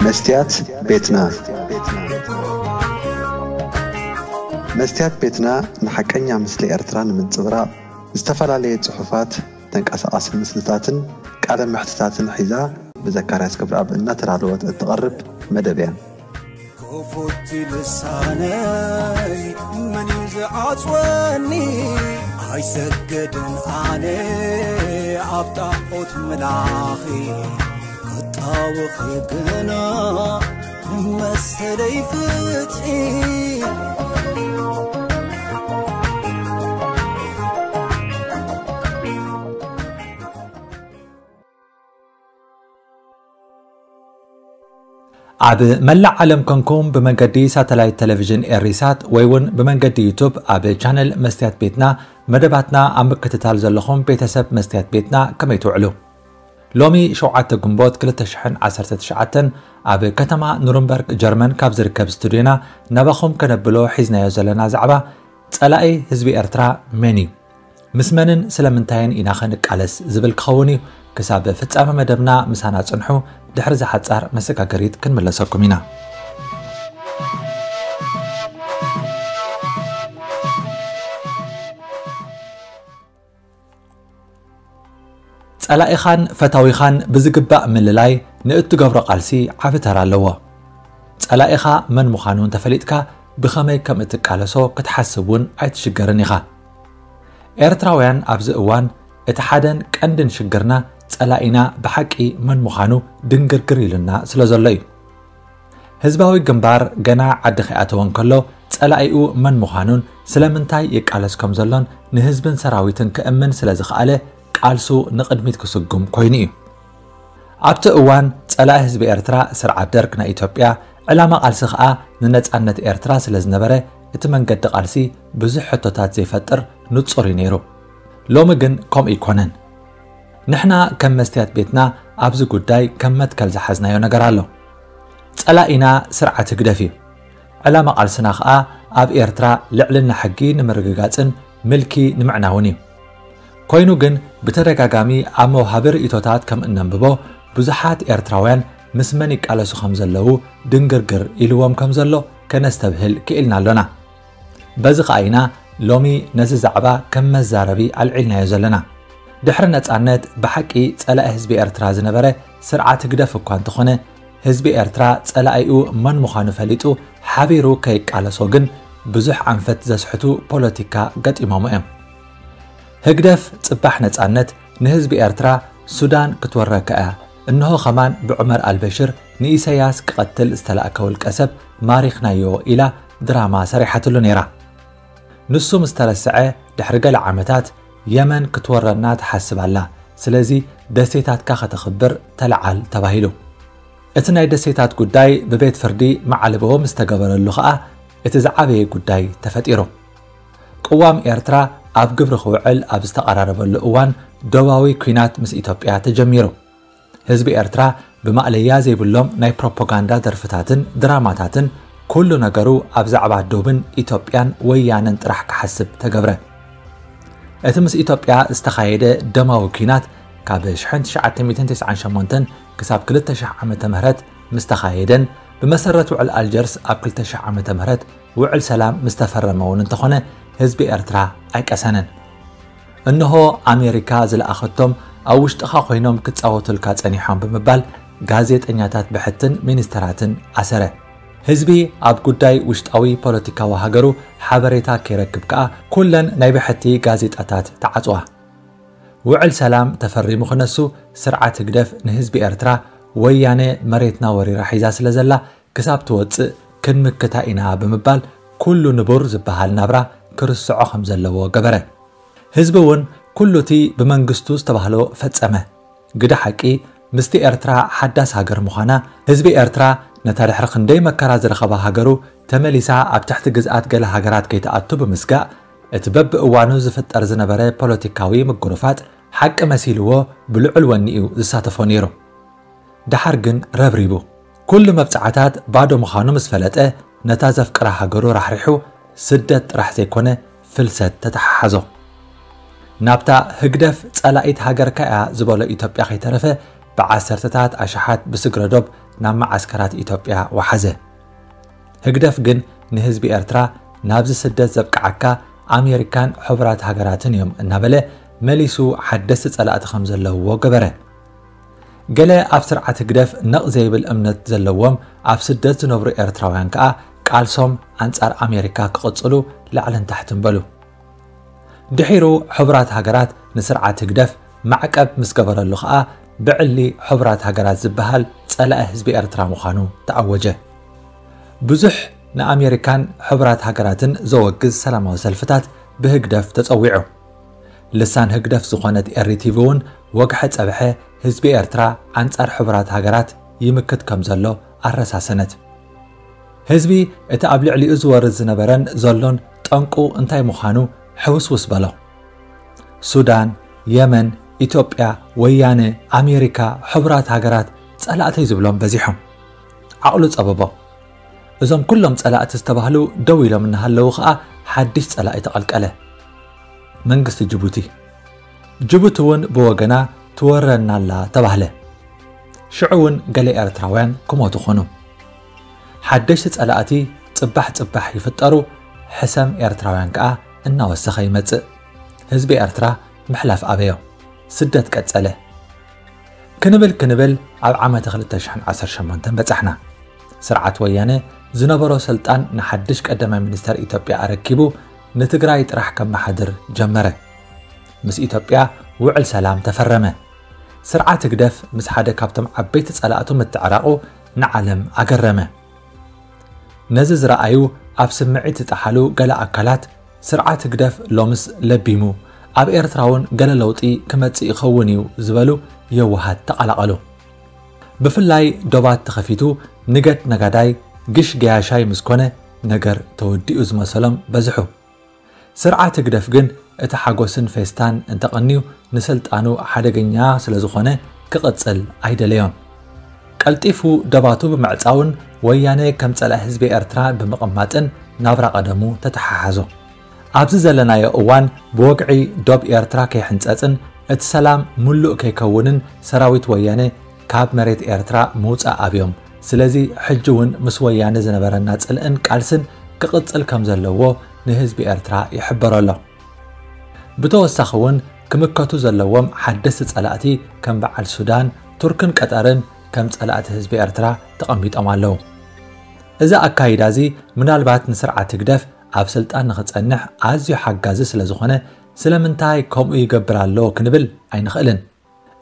መስትያት ቤትና። መስትያት ቤትና ንሓቀኛ ምስሊ ኤርትራ ንምንጽብራቕ ዝተፈላለየ ጽሑፋት፣ ተንቀሳቓሲ ምስልታትን ቃለ መሕትታትን ሒዛ ብዘካርያስ ክብረኣብ እናተዳለወት እትቐርብ መደብ እያ። ክፉት ልሳነይ መን እዩ ዝዓጽወኒ? ኣይሰግድን ኣነ ኣብ ጣዖት ምላኺ፣ ክጣወኺ ግና መሰለይ ፍትሒ። ኣብ መላእ ዓለም ኮንኩም ብመንገዲ ሳተላይት ቴሌቪዥን ኤሪሳት ወይ እውን ብመንገዲ ዩቱብ ኣብ ቻነል መስትያት ቤትና መደባትና ኣብ ምክትታል ዘለኹም ቤተሰብ መስትያት ቤትና ከመይ ትውዕሉ? ሎሚ ሸውዓተ ግንቦት ክልተ ሽሕን ዓሰርተ ትሽዓተን ኣብ ከተማ ኑርንበርግ ጀርመን ካብ ዝርከብ ስቱድዮና ናባኹም ከነብሎ ሒዝናዮ ዘለና ዛዕባ ጸላኢ ህዝቢ ኤርትራ መን እዩ? ምስ መንን ስለምንታይን ኢናኸ ንቃለስ ዝብል ክኸውን እዩ። ክሳብ ፍጻመ መደብና ምሳና ጽንሑ፣ ድሕሪ እዛ ሓጻር መሰጋገሪት ክንምለሰኩም ኢና። ጸላኢኻን ፈታዊኻን ብዝግባእ ምልላይ ንእትገብሮ ቃልሲ ዓቢ ተራ ኣለዎ። ጸላኢኻ መን ምዃኑ እንተፈሊጥካ ብኸመይ ከም እትቃለሶ ክትሓስብ እውን ኣይትሽገርን ኢኻ። ኤርትራውያን ኣብዚ እዋን እቲ ሓደን ቀንድን ሽግርና ጸላኢና ብሓቂ መን ምዃኑ ድንግርግር ኢሉና ስለ ዘሎ እዩ። ህዝባዊ ግንባር ገና ዓዲ ከይኣተወ እንከሎ ጸላኢኡ መን ምዃኑን ስለምንታይ ይቃለስ ከም ዘሎን ንህዝብን ሰራዊትን ከእምን ስለ ዝኸኣለ ቃልሱ ንቕድሚት ክስጉም ኮይኑ እዩ። ኣብቲ እዋን ጸላኢ ህዝቢ ኤርትራ ስርዓት ደርግ ናይ ኢትዮጵያ፣ ዕላማ ቃልሲ ከኣ ንነጻነት ኤርትራ ስለ ዝነበረ እቲ መንገዲ ቃልሲ ብዙሕ ሕቶታት ዘይፈጥር ንጹር እዩ ነይሩ። ሎሚ ግን ከምኡ ኣይኮነን። ንሕና ከም መስትያት ቤትና ኣብዚ ጉዳይ ከም መትከል ዝሓዝናዮ ነገር ኣሎ። ጸላኢና ስርዓት ህግደፍ እዩ። ዕላማ ቃልስና ከኣ ኣብ ኤርትራ ልዕልና ሕጊ ንምርግጋጽን ምልኪ ንምዕናውን እዩ። ኮይኑ ግን ብተደጋጋሚ ኣብ መውሃቢ ርእይቶታት ከም እነንብቦ ብዙሓት ኤርትራውያን ምስ መን ይቃለሱ ከም ዘለዉ ድንግርግር ኢልዎም ከም ዘሎ ከነስተብህል ክኢልና ኣሎና። በዚ ኸኣ ኢና ሎሚ ነዚ ዛዕባ ከም መዛረቢ ኣልዒልናዮ ዘለና። ድሕሪ ነጻነት ብሓቂ ጸላኢ ህዝቢ ኤርትራ ዝነበረ ስርዓት ህግደፍ እኳ እንተኾነ፣ ህዝቢ ኤርትራ ጸላኢኡ መን ምዃኑ ፈሊጡ ሓቢሩ ከይቃለሶ ግን ብዙሕ ኣንፈት ዘስሕቱ ፖለቲካ ገጢሞሞ እዮም። ህግደፍ ጽባሕ ነጻነት ንህዝቢ ኤርትራ ሱዳን ክትወረካ እያ፣ እንሆ ኸማን ብዑመር ኣልበሽር ንኢሰያስ ክቐትል ዝተላእከ ውልቀ ሰብ ማሪኽናዮ ኢላ ድራማ ሰሪሓትሉ ነይራ። ንሱ ምስ ተረስዐ ድሕሪ ገለ ዓመታት የመን ክትወረና ትሓስብ ኣላ፣ ስለዚ ደሴታትካ ከተኽብር ተለዓል ተባሂሉ። እቲ ናይ ደሴታት ጉዳይ ብቤት ፍርዲ መዓልቦ ምስ ተገበረሉ ኸኣ እቲ ዝዓበየ ጉዳይ ተፈጢሩ። ቅዋም ኤርትራ ኣብ ግብሪ ክውዕል ኣብ ዝተቐራረበሉ እዋን ዶባዊ ኲናት ምስ ኢትዮጵያ ተጀሚሩ። ህዝቢ ኤርትራ ብማእለያ ዘይብሎም ናይ ፕሮፓጋንዳ ደርፍታትን ድራማታትን ኩሉ ነገሩ ኣብ ዛዕባ ዶብን ኢትዮጵያን ወያነን ጥራሕ ክሓስብ ተገብረ። እቲ ምስ ኢትዮጵያ ዝተኻየደ ደማዊ ኲናት ካብ ሽሕን ትሽዓተ ሚእትን ተስዓን ሸሞንተን ክሳብ ክልተ ሽሕ ዓመተ ምህረት ምስ ተኻየደን ብመሰረት ውዕል ኣልጀርስ ኣብ ክልተ ሽሕ ዓመተ ምህረት ውዕል ሰላም ምስ ተፈረመ እውን እንተኾነ ህዝቢ ኤርትራ ኣይቀሰነን። እንሆ ኣሜሪካ ዝለኣኸቶም ኣብ ውሽጥኻ ኮይኖም ክጻወቱልካ ጸኒሖም ብምባል ጋዜጠኛታት ብሕትን ሚኒስተራትን ኣሰረ። ህዝቢ ኣብ ጉዳይ ውሽጣዊ ፖለቲካዊ ሃገሩ ሓበሬታ ከይረክብ ከኣ ኩለን ናይ ብሕቲ ጋዜጣታት ተዓጽዋ። ውዕል ሰላም ተፈሪሙ ክነሱ ስርዓት ህግደፍ ንህዝቢ ኤርትራ ወያነ መሬትና ወሪራ ሒዛ ስለ ዘላ ክሳብ ትወጽእ ክንምክታ ኢና ብምባል ኩሉ ንቡር ዝበሃል ናብራ ክርስዖ ከም ዘለዎ ገበረ። ህዝቢ እውን ኩሉ እቲ ብመንግስቱ ዝተባህሎ ፈጸመ። ግደ ሓቂ ምስቲ ኤርትራ ሓዳስ ሃገር ምዃና፣ ህዝቢ ኤርትራ ነታ ድሕሪ ክንደይ መከራ ዝረኸባ ሃገሩ ተመሊሳ ኣብ ትሕቲ ግዝኣት ገለ ሃገራት ከይትኣቱ ብምስጋእ፣ እቲ በብእዋኑ ዝፍጠር ዝነበረ ፖለቲካዊ ምጉርፋጥ ሓቂ መሲልዎ ብልዑል ወኒ እዩ ዝሳተፎ ነይሩ። ደሓር ግን ረብሪቡ። ኩሉ መብጽዓታት ባዶ ምዃኑ ምስ ፈለጠ፣ ነታ ዘፍቅራ ሃገሩ ራሕሪሑ ስደት ጥራሕ ዘይኮነ ፍልሰት ተተሓሓዞ። ናብታ ህግደፍ ጸላኢት ሃገርካ እያ ዝበሎ ኢትዮጵያ ከይተረፈ ብዓሰርተታት ኣሽሓት ብስግረ ዶብ ናብ መዓስከራት ኢትዮጵያ ወሓዘ። ህግደፍ ግን ንህዝቢ ኤርትራ ናብዚ ስደት ዘብቅዓካ ኣሜሪካን ሕቡራት ሃገራትን እዮም እናበለ መሊሱ ሓደስቲ ጸላእቲ ከም ዘለውዎ ገበረ። ገለ ኣብ ስርዓት ህግደፍ ነቕ ዘይብል እምነት ዘለዎም ኣብ ስደት ዝነብሩ ኤርትራውያን ከኣ ቃልሶም ኣንጻር ኣሜሪካ ክቕጽሉ ላዕልን ታሕትን በሉ። ድሒሩ ሕቡራት ሃገራት ንስርዓት ህግደፍ ማዕቀብ ምስ ገበረሉ ከኣ ብዕሊ ሕቡራት ሃገራት ዝበሃል ጸላኢ ህዝቢ ኤርትራ ምዃኑ ተኣወጀ። ብዙሕ ንኣሜሪካን ሕቡራት ሃገራትን ዘወግዝ ሰላማዊ ሰልፍታት ብህግደፍ ተጸዊዑ። ልሳን ህግደፍ ዝኾነት ኤሪ ቲቪ እውን ወግሐ ጸብሐ ህዝቢ ኤርትራ ኣንጻር ሕቡራት ሃገራት ይምክት ከም ዘሎ ኣረሳሰነት። ህዝቢ እቲ ኣብ ልዕሊኡ ዝወርድ ዝነበረን ዘሎን ጠንቁ እንታይ ምዃኑ ሕውስውስ በሎ። ሱዳን፣ የመን፣ ኢትዮጵያ፣ ወያነ፣ ኣሜሪካ፣ ሕቡራት ሃገራት ጸላእተይ ዝብሎም በዚሖም። ዓቕሉ ጸበቦ። እዞም ኩሎም ጸላእቲ ዝተባህሉ ደው ኢሎም እናሃለዉ ኸኣ ሓድሽ ጸላኢ ተቐልቀለ። መንግስቲ ጅቡቲ። ጅቡቲ እውን ብወገና ትወረና ኣላ ተባህለ። ሽዑ እውን ገለ ኤርትራውያን ክሞቱ ኾኑ። ሓደሽቲ ጸላእቲ ጽባሕ ጽባሕ ይፍጠሩ፣ ሕሰም ኤርትራውያን ከኣ እናወሰኸ ይመጽእ። ህዝቢ ኤርትራ ምሕላፍ ኣበዮ። ስደት ቀጸለ። ክንብል ክንብል ኣብ ዓመተ ክልተ ሽሕን ዓሰርተ ሸሞንተን በጻሕና። ስርዓት ወያነ ዝነበሮ ስልጣን ንሓድሽ ቀዳማይ ሚኒስተር ኢትዮጵያ ኣረኪቡ ንትግራይ ጥራሕ ከመሓድር ጀመረ። ምስ ኢትዮጵያ ውዕል ሰላም ተፈረመ። ስርዓት ህግደፍ ምስ ሓደ ካብቶም ዓበይቲ ጸላእቱ ምትዕራቑ ንዓለም ኣገረመ። ነዚ ዝረኣዩ ኣብ ስምዒት ዝጠሓሉ ገለ ኣካላት ስርዓት ህግደፍ ሎምስ ለቢሙ ኣብ ኤርትራ እውን ገለ ለውጢ ክመጽእ ይኸውን እዩ ዝበሉ የዋሃት ተቐላቐሉ። ብፍላይ ዶባት ተኸፊቱ ንገድ ነጋዳይ ግሽ ገያሻይ ምስ ኮነ ነገር ተወዲኡ ዝመሰሎም በዝሑ። ስርዓት ህግደፍ ግን እቲ ሓጎስን ፌስታን እንተቐንዩ ንስልጣኑ ሓደገኛ ስለ ዝኾነ ክቕጽል ኣይደለዮን። ቀልጢፉ ደባቱ ብምዕጻውን ወያነ ከም ጸላኢ ህዝቢ ኤርትራ ብምቕማጥን ናብራ ቀደሙ ተተሓሓዞ። ኣብዚ ዘለናዮ እዋን ብወግዒ ዶብ ኤርትራ ከይሕንጸጽን እቲ ሰላም ምሉእ ከይከውንን ሰራዊት ወያነ ካብ መሬት ኤርትራ ምውጻእ ኣብዮም። ስለዚ ሕጂ እውን ምስ ወያነ ዝነበረና ጽልእን ቃልስን ክቕጽል ከም ዘለዎ ንህዝቢ ኤርትራ ይሕበሮ ኣሎ። ብተወሳኺ እውን ክምከቱ ዘለዎም ሓደስቲ ጸላእቲ ከም በዓል ሱዳን፣ ቱርክን ቀጠርን ከም ጸላእቲ ህዝቢ ኤርትራ ተቐሚጦም ኣለዉ። እዚ ኣካይዳ እዚ ምናልባት ንስርዓት ህግደፍ ኣብ ስልጣን ንኽጸንሕ ኣዝዩ ሓጋዚ ስለ ዝኾነ ስለምንታይ ከምኡ ይገብር ኣሎ ክንብል ኣይንኽእልን።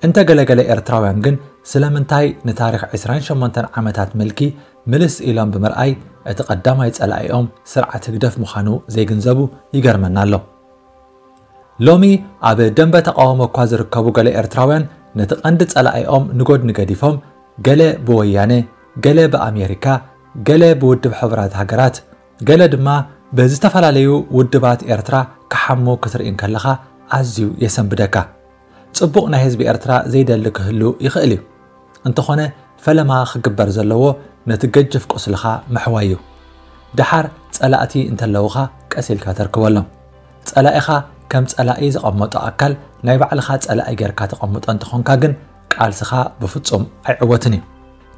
እንተ ገለገለ ኤርትራውያን ግን ስለምንታይ ንታሪኽ ዕስራን ሸሞንተን ዓመታት ምልኪ ምልስ ኢሎም ብምርኣይ እቲ ቀዳማይ ጸላኢኦም ስርዓት ህግደፍ ምዃኑ ዘይግንዘቡ ይገርመና ኣሎ። ሎሚ ኣብ ደንበ ተቓውሞ እኳ ዝርከቡ ገለ ኤርትራውያን ነቲ ቀንዲ ጸላኢኦም ንጎድኒ ገዲፎም ገለ ብወያነ፣ ገለ ብኣሜሪካ፣ ገለ ብውድብ ሕቡራት ሃገራት፣ ገለ ድማ ብዝተፈላለዩ ውድባት ኤርትራ ክሓሙ ክትርኢ እንከለኻ ኣዝዩ የሰንብደካ። ጽቡቕ ናይ ህዝቢ ኤርትራ ዘይደሊ ክህሉ ይኽእል እዩ። እንተኾነ ፈለማ ክግበር ዘለዎ ነቲ ገጅፍ ቁስልኻ ምሕዋይ እዩ። ደሓር ጸላእቲ እንተለውኻ ቀስ ኢልካ ተርክበሎም። ጸላኢኻ ከም ጸላኢ ዘቐመጦ ኣካል ናይ ባዕልኻ ጸላኢ ጌርካ ተቐምጦ እንተኾንካ ግን ቃልስኻ ብፍጹም ኣይዕወትን እዩ።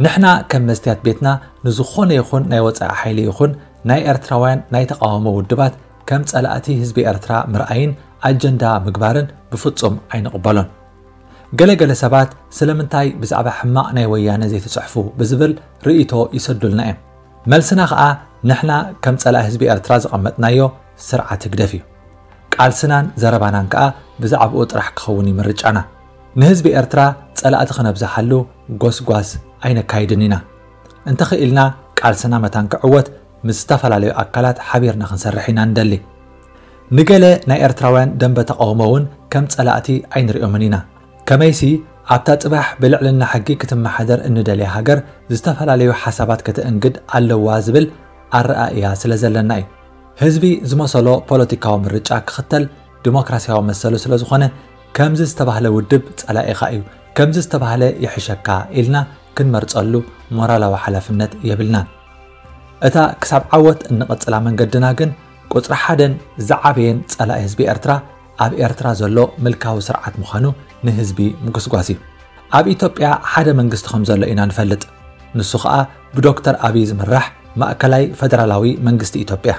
ንሕና ከም መስትያት ቤትና ንዝኾነ ይኹን ናይ ወጻኢ ሓይሊ ይኹን ናይ ኤርትራውያን ናይ ተቓውሞ ውድባት ከም ጸላእቲ ህዝቢ ኤርትራ ምርኣይን ኣጀንዳ ምግባርን ብፍጹም ኣይንቕበሎን። ገለገለ ሰባት ስለምንታይ ብዛዕባ ሕማቕ ናይ ወያነ ዘይትጽሕፉ ብዝብል ርእይቶ ይሰዱልና እዮም። መልስና ኸኣ ንሕና ከም ጸላኢ ህዝቢ ኤርትራ ዘቐመጥናዮ ስርዓት ህግደፍ እዩ። ቃልስናን ዘረባናን ከኣ ብዛዕባኡ ጥራሕ ክኸውን እዩ ምርጫና። ንህዝቢ ኤርትራ ጸላእቲ ክነብዝሓሉ ጎስጓስ ኣይነካይድን ኢና። እንተኽኢልና ቃልስና መታን ክዕወት ምስ ዝተፈላለዩ ኣካላት ሓቢርና ክንሰርሕ ኢና ንደሊ። ንገለ ናይ ኤርትራውያን ደንበ ተቓውሞ እውን ከም ጸላእቲ ኣይንሪኦምን ኢና። ከመይሲ ኣብታ ጽባሕ ብልዕልና ሕጊ ክትመሓደር እንደልያ ሃገር ዝተፈላለዩ ሓሳባት ከተእንግድ ኣለዋ ዝብል ኣረኣእያ ስለ ዘለና እዩ። ህዝቢ ዝመሰሎ ፖለቲካዊ ምርጫ ክኽተል ዲሞክራሲያዊ መሰሉ ስለ ዝኾነ ከምዚ ዝተባህለ ውድብ ጸላኢኻ እዩ፣ ከምዚ ዝተባህለ ይሕሸካ ኢልና ክንመርጸሉ ሞራላዊ ሓላፍነት የብልናን። እታ ክሳብ ዓወት እንቕጽላ መንገድና ግን ቁጽሪ ሓደን ዝዓበየን ጸላኢ ህዝቢ ኤርትራ ኣብ ኤርትራ ዘሎ ምልካዊ ስርዓት ምዃኑ ንህዝቢ ምጉስጓስ እዩ። ኣብ ኢትዮጵያ ሓደ መንግስቲ ከም ዘሎ ኢና ንፈልጥ። ንሱ ኸኣ ብዶክተር ኣብይ ዝምራሕ ማእከላይ ፈደራላዊ መንግስቲ ኢትዮጵያ።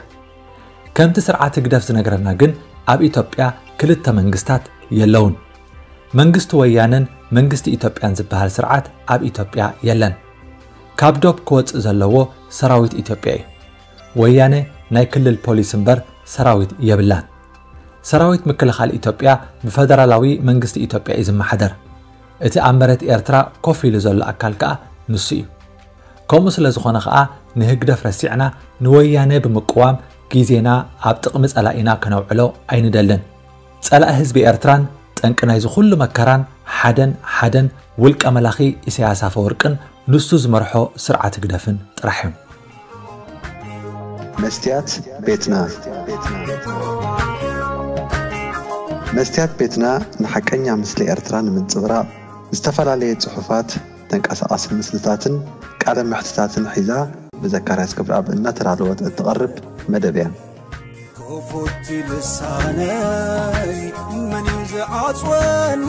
ከምቲ ስርዓት ህግደፍ ዝነግረና ግን ኣብ ኢትዮጵያ ክልተ መንግስታት የለውን። መንግስቲ ወያነን መንግስቲ ኢትዮጵያን ዝበሃል ስርዓት ኣብ ኢትዮጵያ የለን። ካብ ዶብ ክወጽእ ዘለዎ ሰራዊት ኢትዮጵያ እዩ። ወያነ ናይ ክልል ፖሊስ እምበር ሰራዊት የብላን። ሰራዊት ምክልኻል ኢትዮጵያ ብፈደራላዊ መንግስቲ ኢትዮጵያ እዩ ዝመሓደር። እቲ ኣብ መሬት ኤርትራ ኮፍ ኢሉ ዘሎ ኣካል ከኣ ንሱ እዩ። ከምኡ ስለ ዝኾነ ከኣ ንህግደፍ ረሲዕና ንወያነ ብምቅዋም ግዜና ኣብ ጥቕሚ ጸላኢና ከነውዕሎ ኣይንደልን። ጸላኢ ህዝቢ ኤርትራን ጠንቂ ናይዚ ኩሉ መከራን ሓደን ሓደን ውልቀ መላኺ ኢሳያስ ኣፈወርቅን ንሱ ዝመርሖ ስርዓት ህግደፍን ጥራሕ እዮም። መስትያት ቤትና መስትያት ቤትና ንሓቀኛ ምስሊ ኤርትራ ንምንጽብራቕ ዝተፈላለየ ጽሑፋት፣ ተንቀሳቓሲ ምስልታትን ቃለ መሕትታትን ሒዛ ብዘካርያስ ክብረኣብ እናተዳለወት እትቐርብ መደብ እያ። ክፉት ልሳነይ መን እዩ ዝዓጽወኒ?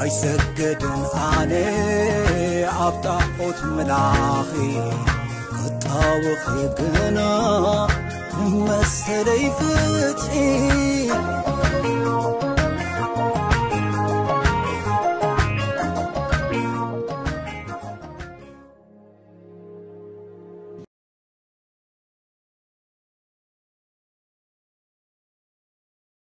ኣይሰግድን ኣነ ኣብ ጣዖት ምላኺ ክጣወኺ ግና ንመሰለይ ፍትሒ